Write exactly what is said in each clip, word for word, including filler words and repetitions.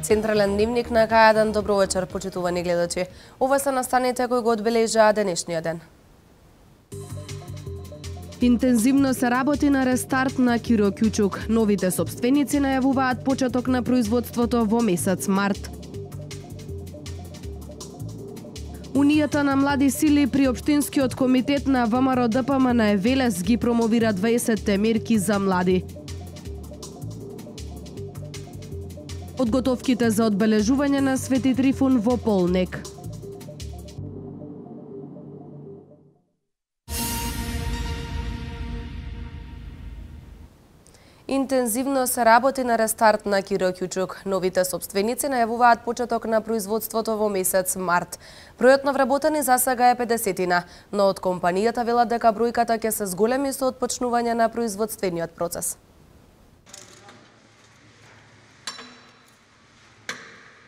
Централен дневник на К еден. Добро вечер, почитувани гледачи. Ова се настаните кои го одбележаа денешниот ден. Интензивно се работи на рестарт на Киро Кјучук. Новите собственици најавуваат почеток на производството во месец март. Унијата на млади сили при Општинскиот комитет на ВМРО-ДПМН на Велес ги промовира дваесетте мерки за млади. Подготовките за одбележување на Свети Трифун во Полнек. Интензивно се работи на рестарт на Киро Кјучук. Новите собственици најавуваат почеток на производството во месец март. Бројот на вработени за сега е педесетина, но од компанијата велат дека бројката ќе се зголеми со отпочнување на производствениот процес.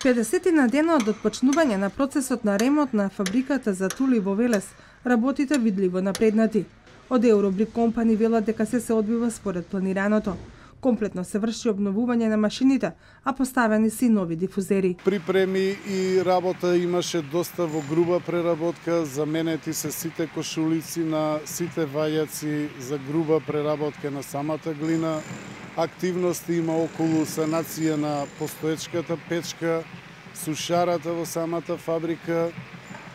педесетина дена од отпочнување на процесот на ремонт на фабриката за тули во Велес, работите видливо напреднати. Од Eurobrick компани велат дека се се одвива според планираното. Комплетно се врши обновување на машините, а поставени си нови дифузери. Припреми и работа имаше доста во груба преработка, заменети се сите кошулици на сите вајаци за груба преработка на самата глина. Активности има околу санација на постоечката печка, сушарата во самата фабрика,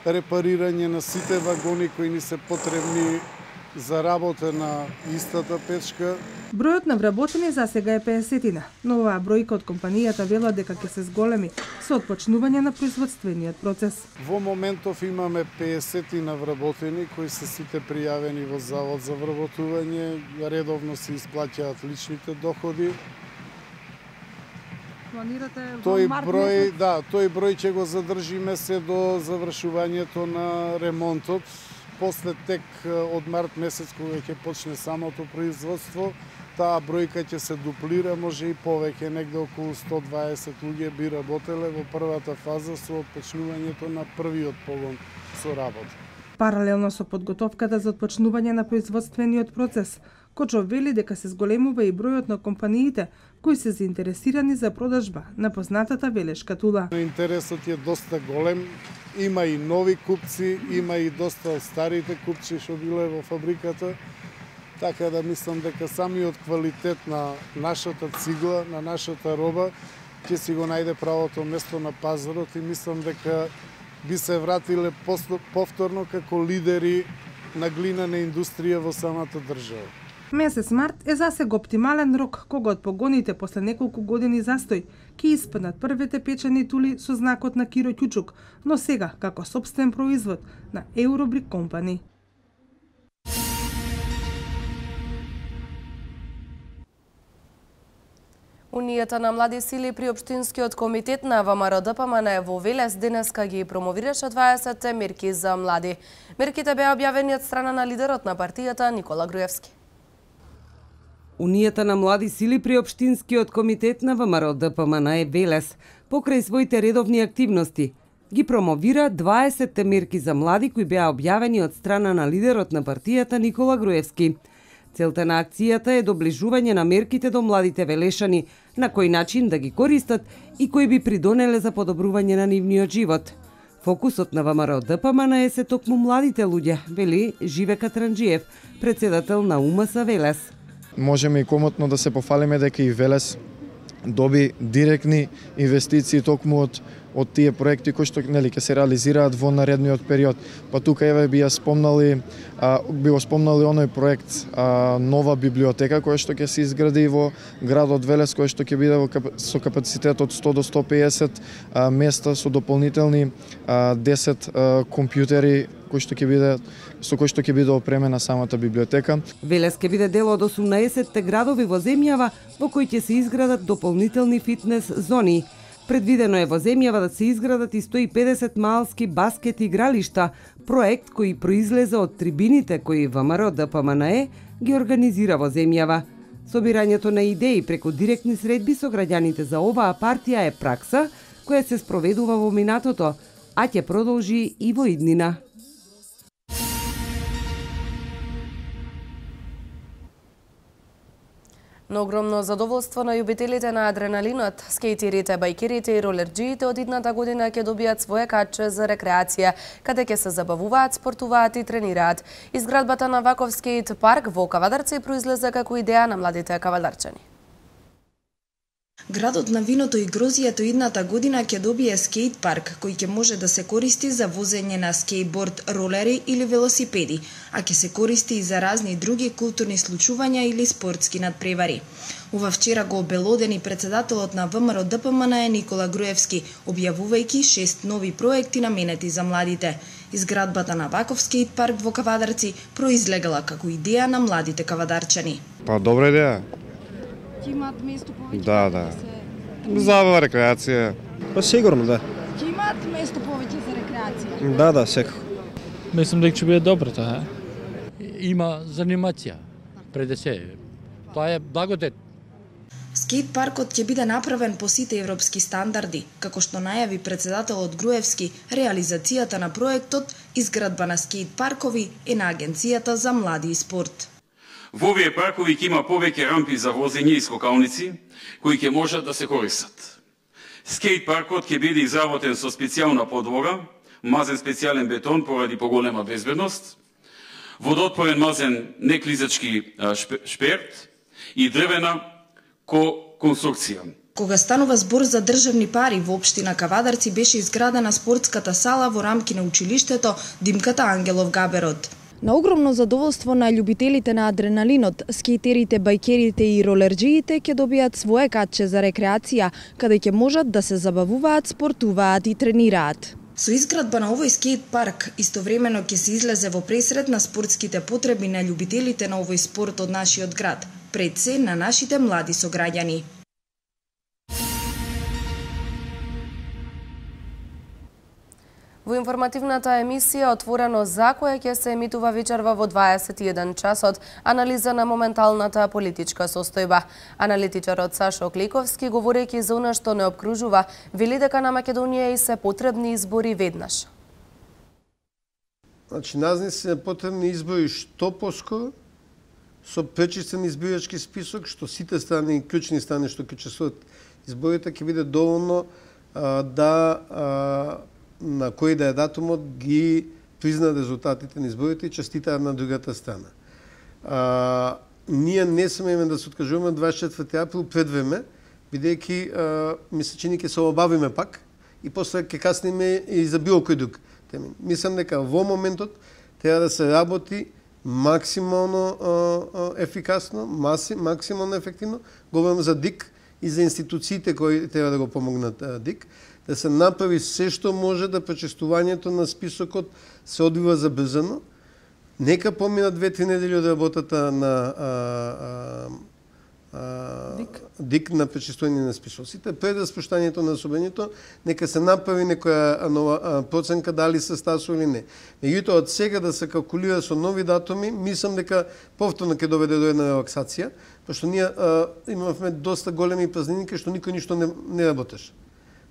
репарирање на сите вагони кои ни се потребни за работа на истата печка. Бројот на вработени за сега е педесетина, но оваа бројка од компанијата вела дека ќе се зголеми со отпочнување на производствениот процес. Во моментов имаме педесетина вработени кои се сите пријавени во Завод за вработување, редовно се исплаќаат личните доходи. Планирате тој број, да, тој број ќе го задржиме се до завршувањето на ремонтот. После тек од март месец, кога ќе почне самото производство, таа бројка ќе се дуплира, може и повеќе, негде околу сто дваесет луѓе би работеле во првата фаза со отпочнувањето на првиот погон со работа. Паралелно со подготовката за отпочнување на производствениот процес, Кочов вели дека се зголемува и бројот на компаниите кои се заинтересирани за продажба на познатата велешка тула. Интересот е доста голем, има и нови купци, има и доста од старите купци што биле во фабриката, така да мислам дека самиот квалитет на нашата цигла, на нашата роба, ќе си го најде правото место на пазарот и мислам дека би се вратиле повторно како лидери на глинена индустрија во самата држава. Месец март е засега оптимален рок кога од погоните после неколку години застој ќе испаднат првите печени тули со знакот на Киро Кјучук, но сега како сопствен производ на Eurobrick компани. Унијата на млади сили при Општинскиот комитет на ВМРО-ДПМН во Велес денеска ги промовираше дваесетте мерки за млади. Мерките беа објавени од страна на лидерот на партијата Никола Груевски. Унијата на млади сили при Општинскиот комитет на ВМРО-ДПМН Велес покрај своите редовни активности ги промовира дваесетте мерки за млади кои беа објавени од страна на лидерот на партијата Никола Груевски. Целта на акцијата е доближување на мерките до младите велешани, на кој начин да ги користат и кои би придонеле за подобрување на нивниот живот. Фокусот на ВМРО-ДПМН е се токму младите луѓе, вели Живе Катранџиев, председател на УМС Велес. Можеме и комотно да се пофалиме дека и Велес доби директни инвестиции токму од од тие проекти кои што нели ќе се реализираат во наредниот период. Па тука еве би ја спомнали, а, би го спомнали оној проект а, нова библиотека која што ќе се изгради во градот Велес, која што ќе биде во кап... со капацитет од сто до сто пеесет а, места со дополнителни а, десет а, компјутери кои што ќе биде со кои што ќе биде опремена самата библиотека. Велес ќе биде дел од осумнаесетте градови во земјава во кои ќе се изградат дополнителни фитнес зони. Предвидено е во земјава да се изградат и сто и педесет малски баскет игралишта, проект кој произлезе од трибините кои ВМРО-ДПМН ги организира во земјава. Собирањето на идеи преку директни средби со граѓаните за оваа партија е пракса која се спроведува во минатото, а ќе продолжи и во иднина. На огромно задоволство на љубителите на адреналинот, скејтерите, бајкерите и ролерџиите од идната година ќе добијат своје каче за рекреација, каде ќе се забавуваат, спортуваат и тренираат. Изградбата на ваков скејт парк во Кавадарци произлезе како идеја на младите кавадарчани. Градот на виното и грозијето идната година ќе добие скејт парк, кој ќе може да се користи за возење на скејборд, ролери или велосипеди, а ќе се користи и за разни други културни случувања или спортски надпревари. Ова вчера го обелодени председателот на ВМРО-ДПМН Никола Груевски, објавувајќи шест нови проекти наменети за младите. Изградбата на ваков скејт парк во Кавадарци произлегала како идеја на младите кавадарчани. Па добра идеја. Ќе имаат место повеќе? Да, да. Забава, рекреација. Па сигурно, да. Ќе имаат место повеќе за рекреација? Да, да, секако. Мислам дека ќе биде добро тоа. Има занимација пред се. Тоа е благодет. Скејт паркот ќе биде направен по сите европски стандарди, како што најави председателот Груевски. Реализацијата на проектот изградба на скејт паркови е на Агенцијата за млади и спорт. Во овие паркови ќе има повеќе рампи за возење и скокалници, кои ќе можат да се користат. Скејт паркот ќе биде изработен со специјална подлога, мазен специјален бетон поради поголема безбедност, водоотпорен мазен неклизачки шперт и дрвена ко-конструкција. Кога станува збор за државни пари, во општина Кавадарци беше изградена спортската сала во рамки на училиштето Димката Ангелов Габерот. На огромно задоволство на љубителите на адреналинот, скејтерите, бајкерите и ролерџиите ќе добијат своје каче за рекреација, каде ќе можат да се забавуваат, спортуваат и тренираат. Со изградба на овој скејт парк, истовремено ќе се излезе во пресред на спортските потреби на љубителите на овој спорт од нашиот град, пред се на нашите млади сограѓани. Во информативната емисија Отворено за која ќе се емитува вечерва во дваесет и еден часот, анализа на моменталната политичка состојба. Аналитичарот Сашо Кликовски, говорејќи за она што не обкружува, вели дека на Македонија и се потребни избори веднаш. Значи, нас не се потребни избори што поскоро, со пречистен избирачки список, што сите страни, клучни страни што ќе учествуваат изборите, ќе биде доволно а, да а, на кој да е датумот ги призна резултатите на изборите и честитаат на другата страна. А, ние не смееме да се откажуваме дваесет и четврти април пред време, бидејќи ми се чини ќе се обавиме пак и после ќе касниме и за било кој друг термин. Мислам дека во моментот треба да се работи максимално а, а, ефикасно, маси, максимално ефективно. Говорам за ДИК и за институциите кои треба да го помогнат а, ДИК, да се направи се што може да пречестувањето на списокот се одвива забрзано. Нека помина две-три недели од работата на а, а, а, ДИК. ДИК на пречестување на списоците. Пред распуштањето на собранието, нека се направи некоја нова а, проценка дали се стасо или не. Меѓутоа, од сега да се калкулира со нови датуми, мислам дека повторно ќе доведе до една релаксација, пошто ние а, имавме доста големи празнини кај што никој ништо не, не работеше.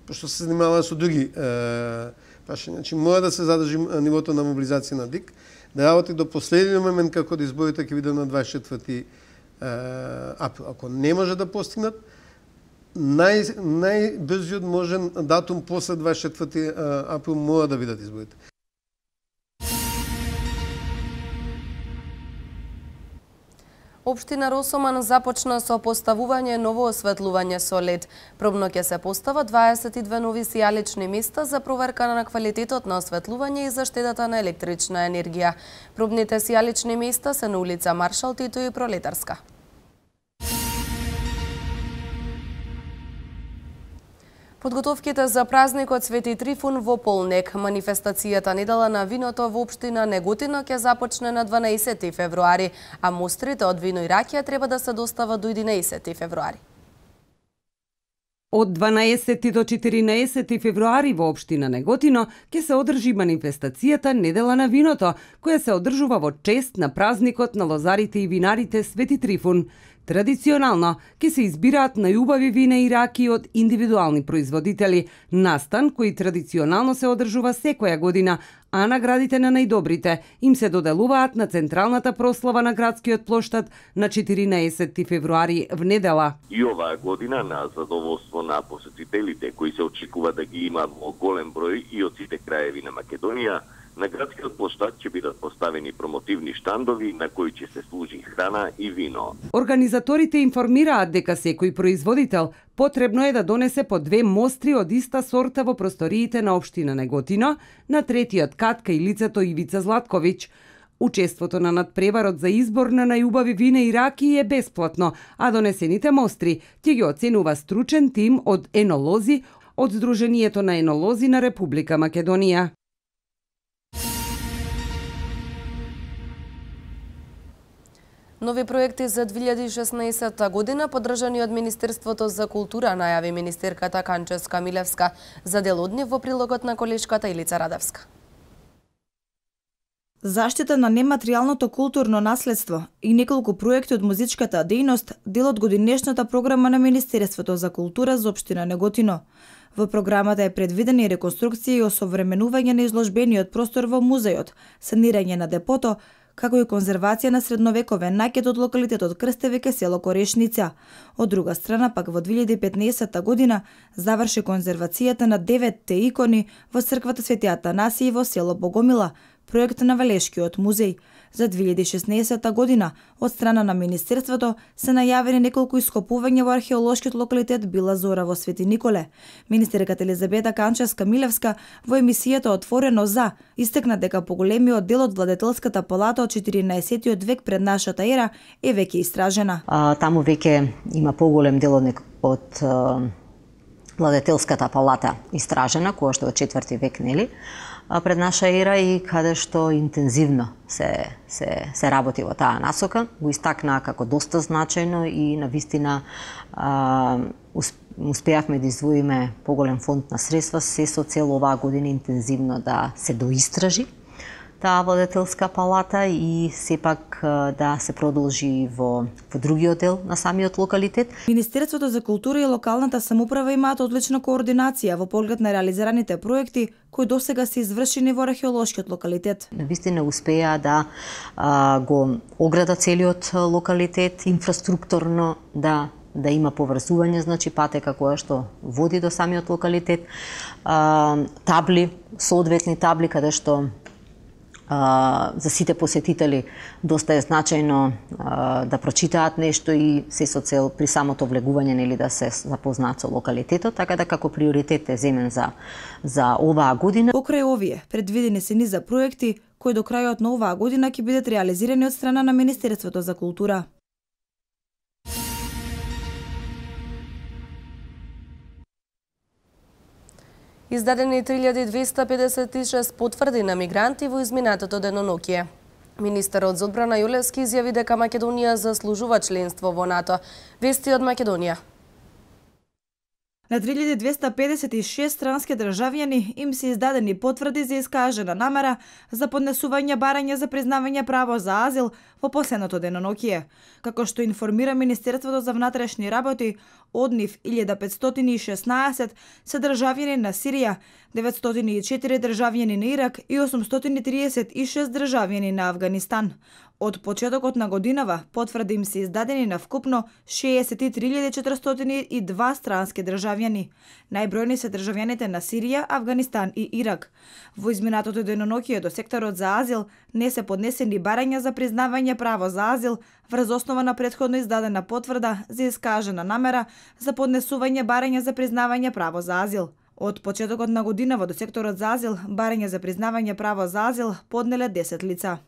Пошто се занимава со други е, прашања. Значи, мора да се задржи нивото на мобилизација на ДИК, да работи до последниот момент како да изборите ќе биде на дваесет и четврти април. Ако не може да постигнат, нај, најбрзиот можен датум после дваесет и четврти април мора да бидат изборите. Општина Росоман започна со поставување ново осветлување со лед. Пробно ќе се постава дваесет и две нови сијалични места за проверка на квалитетот на осветлување и заштедата на електрична енергија. Пробните сијалични места се на улица Маршал Тито и Пролетарска. Подготовките за празникот Свети Трифун во полнек. Манифестацијата Недела на виното во општина Неготино ќе започне на дванаесети февруари, а мострите од вино и ракија треба да се достават до единаесети февруари. Од дванаесети до четиринаесети февруари во општина Неготино ќе се одржи манифестацијата Недела на виното, која се одржува во чест на празникот на лозарите и винарите Свети Трифун. Традиционално ќе се избираат најубави вина и раки од индивидуални производители, настан кој традиционално се одржува секоја година, а наградите на најдобрите им се доделуваат на централната прослава на градскиот плоштад на четиринаесетти февруари в недела. И оваа година на задоволство на посетителите кои се очекува да ги има во голем број и од сите краеви на Македонија, на градскиот плоштад ќе бидат поставени промотивни штандови на кои ќе се служи храна и вино. Организаторите информираат дека секој производител потребно е да донесе по две мостри од иста сорта во просториите на општина Неготино, на третиот кат кај лицето Ивица Златковиќ. Учеството на надпреварот за избор на најубави вина и раки е бесплатно, а донесените мостри ќе ги оценува стручен тим од енолози од Сдруженијето на енолози на Република Македонија. Нови проекти за две илјади и шеснаесетта година поддржани од Министерството за култура, најави министерката Канческа Милевска за дел од нив во прилогот на колешката Илица Радевска. Заштита на нематеријалното културно наследство и неколку проекти од музичката дејност дел од годинешната програма на Министерството за култура за општина Неготино. Во програмата е предвидена и реконструкција и осовременување на изложбениот простор во музејот, санирање на депото, како и конзервација на средновековен накет од локалитетот Крстевике, село Корешница. Од друга страна, пак во две илјади и петнаесетта година заврши конзервацијата на деветте икони во црквата Свети Атанасиј во село Богомила, проект на Валешкиот музеј. За две илјади и шеснаесетта година од страна на Министерството се најавени неколку ископувања во археолошкиот локалитет Била Зора во Свети Николе. Министерката Елизабета Канческа Милевска во емисијата Отворено за истекна дека поголемиот дел од владетелската палата од четиринаесеттиот век пред нашата ера е веќе истражена. А, таму веќе има поголем дел од, од а, владетелската палата истражена, која што од четврти век, нели? Пред наша ера и каде што интензивно се, се, се работи во таа насока. Го истакна како доста значајно и навистина а, успеавме да издвоиме поголем фонд на средства се со цел оваа година интензивно да се доистражи таа владетелска палата и сепак да се продолжи во, во другиот дел на самиот локалитет. Министерството за култура и локалната самоуправа имаат одлична координација во поглед на реализираните проекти кои досега се извршени во археолошкиот локалитет. Навистина успеа да а, го оградат целиот локалитет, инфраструктурно да да има поврзување, значи патека која што води до самиот локалитет, а, табли, соодветни табли каде што Uh, за сите посетители доста е значајно uh, да прочитаат нешто и се со цел при самото влегување нели да се запознаат со локалитетот, така да како приоритет е земен за за оваа година. Покрај овие предвидени се низа проекти кои до крајот на оваа година ќе бидат реализирани од страна на Министерството за култура. Издадени три илјади двесте педесет и шест потврди на мигранти во изминатото денонокие. Министерот за одбрана Јулевски изјави дека Македонија заслужува членство во НАТО. Вести од Македонија. На три илјади двесте педесет и шест странски државјани им се издадени потврди за искажена намера за поднесување барање за признавање право за азил во последното денонокие. Како што информира Министерството за внатрешни работи, од нив илјада петстотини и шеснаесет се државјани на Сирија, деветстотини и четири државјани на Ирак и осумстотини триесет и шест државјани на Авганистан. Од почетокот на годинава потврди им се издадени на вкупно шеесет и три илјади четиристотини и два странски државјани. Најбројни се државјаните на Сирија, Авганистан и Ирак. Во изминатото денонокие до секторот за азил не се поднесени барања за признавање право за азил врз основа на претходно издадена потврда за искажена намера за поднесување барање за признавање право за азил. Од почетокот на годинава до секторот за азил барање за признавање право за азил поднеле десет лица.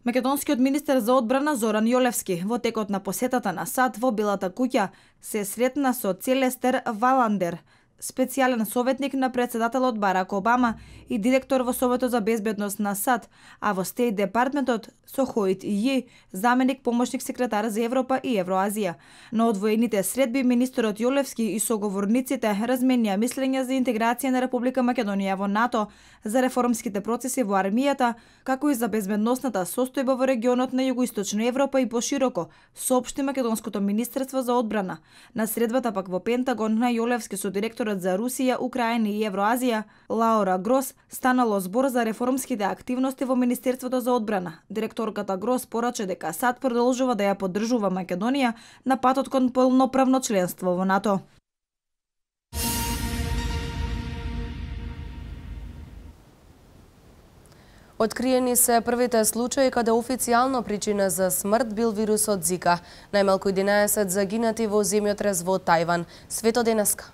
Македонскиот министер за одбрана Зоран Јолевски во текот на посетата на САД во Белата куќа се сретна со Целестер Валандер, специјален советник на претседателот Барак Обама и директор во Советот за безбедност на САД, а во Стейт Департментот со Хоит Ији, заменик помошник секретар за Европа и Евроазија. На одвоените средби министерот Јолевски и соговорниците разменија мислења за интеграција на Република Македонија во НАТО, за реформските процеси во армијата, како и за безбедносната состојба во регионот на Југоисточна Европа и пошироко, соопшти Македонското министерство за одбрана. На средбата пак во Пентагон на Јолевски со директорот за Русија, Украина и Евроазија, Лаура Грос, станало збор за реформските активности во Министерството за одбрана. Директорката Грос порача дека САД продолжува да ја поддржува Македонија на патот кон полноправно членство во НАТО. Откриени се првите случаи каде официјална причина за смрт бил вирусот Зика. Најмалку единаесет загинати во земјотрес во Тајван. Свето денеска.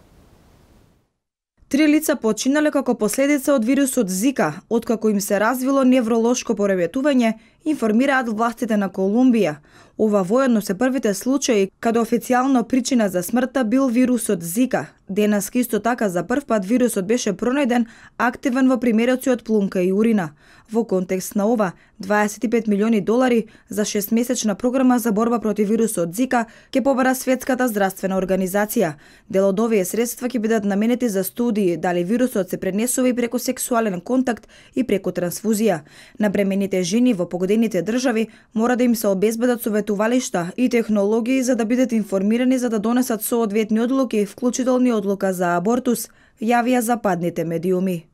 Три лица починале како последица од вирусот Зика, откако им се развило невролошко пореметување, информираат властите на Колумбија. Ова воедно се првите случаи каде официјална причина за смртта бил вирусот Зика. Денеска исто така за прв пат вирусот беше пронајден активен во примероци од плунка и урина. Во контекст на ова, дваесет и пет милиони долари за шестмесечна програма за борба против вирусот Зика ќе побара Светската здравствена организација. Дел од овие средства ќе бидат наменети за студии дали вирусот се пренесува и преку сексуален контакт и преку трансфузија. На бремените жени во погодените држави мора да им се обезбедат советувалишта и технологии за да бидат информирани за да донесат соодветни одлуки, вклучително и одлука за абортус, јавија западните медиуми.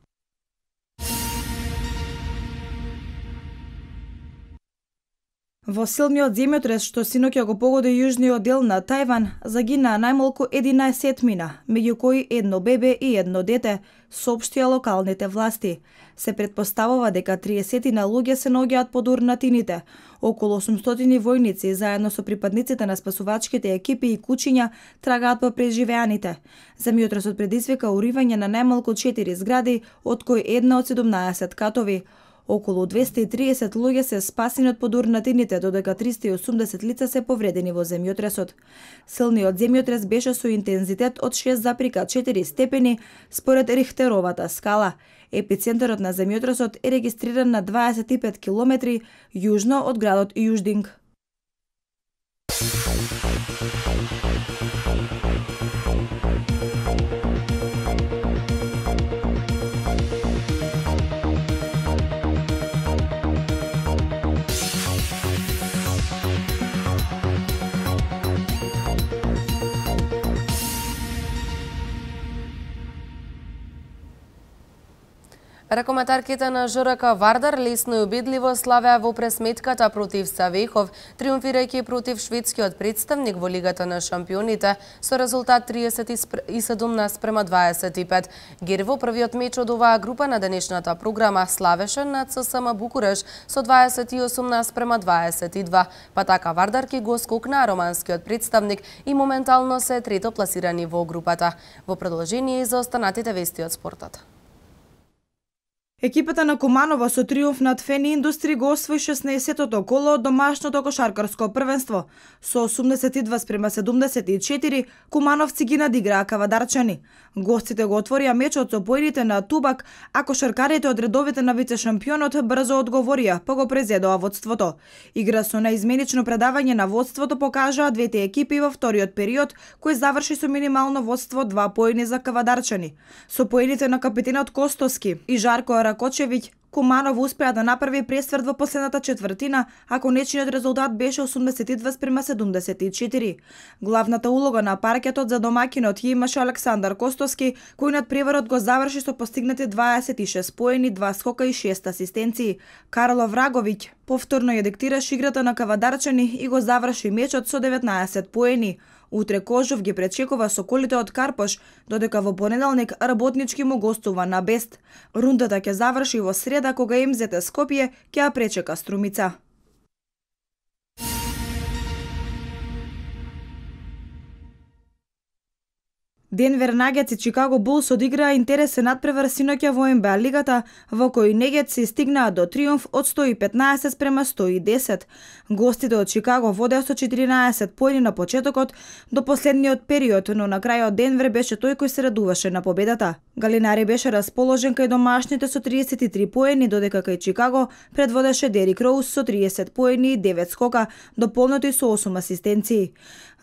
Во силниот земјотрес што синоќа го погоди јужниот дел на Тајван, загинаа најмалку единаесетмина, меѓу кои едно бебе и едно дете, соопштија локалните власти. Се претпоставува дека триесетина луѓе се наоѓаат под урнатините. Околу осумстотини војници, заедно со припадниците на спасувачките екипи и кучиња, трагаат по преживеаните. Земјотресот предизвика уривање на најмалку четири згради, од кои една од седумнаесет катови. Околу двесте и триесет луѓе се спасени од подурнатините, додека триста и осумдесет лица се повредени во земјотресот. Силниот земјотрес беше со интензитет од шест запирка четири степени според Рихтеровата скала. Епицентарот на земјотресот е регистриран на дваесет и пет километри јужно од градот Јуждинг. Ракоматарките на ЖРК Вардар лесно и убедливо славеа во пресметката против Савехов, триумфирајќи против шведскиот представник во Лигата на шампионите со резултат триесет и седум наспрема дваесет и пет. Гер во првиот меч од оваа група на денешната програма славеше над ССМ Букуреш со дваесет и осум наспрема дваесет и два, па така Вардар ки го скокна романскиот представник и моментално се трето пласирани во групата. Во продолжение за останатите вести од спортот. Екипата на Куманово со триумф над Фени Индустри го освои шеснаесеттото коло од домашното кошаркарско првенство. Со осумдесет и два спрема седумдесет и четири, кумановци ги надиграа кавадарчани. Гостите го отворија мечот со поедите на Тубак, а кошаркарите од редовите на вице-шампионот брзо одговорија, па го презедоа водството. Игра со наизменично предавање на водството покажаа двете екипи во вториот период, кој заврши со минимално водство два поени за кавадарчани. Со поените на капитенот Костоски и Жарко Ракочевиќ, Куманово успеа да направи пресврт во последната четвртина, а конечниот резултат беше осумдесет и два спрема седумдесет и четири. Главната улога на паркетот за домакинот ја имаше Александар Костоски, кој над преварот го заврши со постигнати дваесет и шест поени, два скока и шест асистенции. Карло Враговиќ повторно ја диктираше играта на кавадарчани и го заврши мечот со деветнаесет поени. Утре Кожов ги пречекува соколите од Карпош, додека во понеделник работнички му гостува на Бест. Рундата ќе заврши во среда кога Ем Зет Скопје ќе ја пречека Струмица. Денвер Нагетс и Чикаго Булс одиграа интересен надпревар синоќа во Н Б А лигата, во кој Нагетс се стигнаа до триумф од сто и петнаесет спрема сто и десет. Гостите од Чикаго водеа со четиринаесет поени на почетокот до последниот период, но на крајот Денвер беше тој кој се радуваше на победата. Галинари беше расположен кај домашните со триесет и три поени, додека кај Чикаго предводеше Дерик Роуз со триесет поени и девет скока, дополнети со осум асистенции.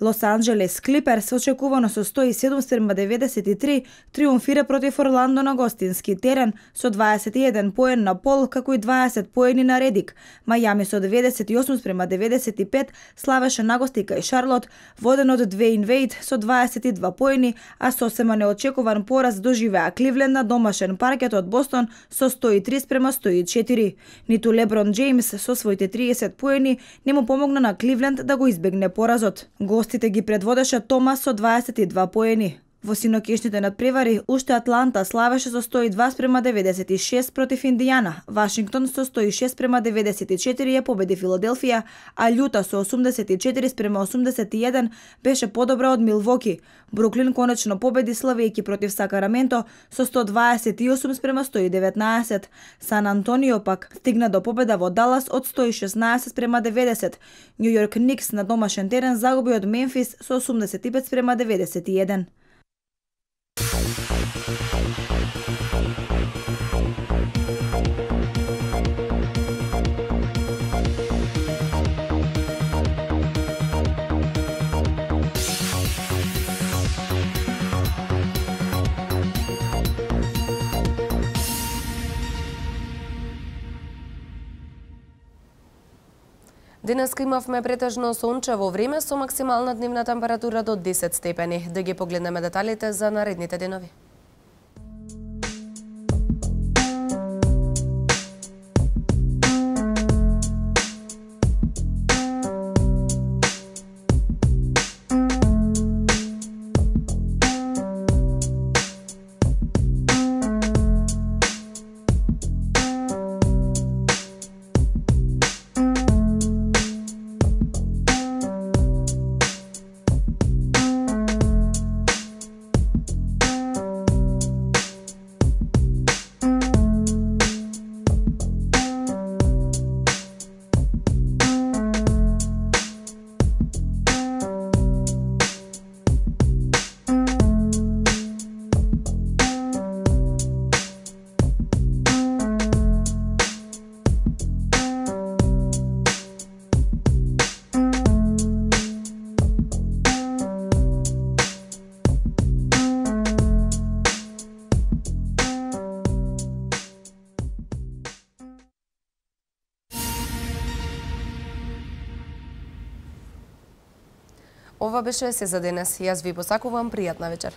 Лос Анџелес Клиперс очекувано со сто и седум спрема деветдесет и три триумфира против Орландо на гостински терен со дваесет и еден поен на Пол, како и дваесет поени на Редик. Мајами со деветдесет и осум спрема деветдесет и пет славеше нагости кај Шарлот, воден од Двејн Вејд со дваесет и два поени, а сосема неочекуван пораз доживеа Кливленд на домашен паркет од Бостон со сто и три спрема сто и четири. Ниту Леброн Джеймс со своите триесет поени не му помогна на Кливленд да го избегне поразот. Гостите ги предводеше Томас со дваесет и два поени. Во синокешните надпревари, уште Атланта славеше со сто и два спрема деветдесет и шест против Индијана, Вашингтон со сто и шест спрема деветдесет и четири ја победи Филаделфија, а Љута со осумдесет и четири спрема осумдесет и еден беше подобра од Милвоки. Бруклин конечно победи славејќи против Сакраменто со сто дваесет и осум спрема сто и деветнаесет. Сан Антонио пак стигна до победа во Далас од сто и шеснаесет спрема деветдесет. Њу Јорк Никс на домашен терен загуби од Мемфис со осумдесет и пет спрема деветдесет и еден. Денеска имавме претежно сончево време со максимална дневна температура до десет степени. Да ги погледнеме деталите за наредните денови. Ова беше се за денес. Јас ви посакувам пријатна вечер.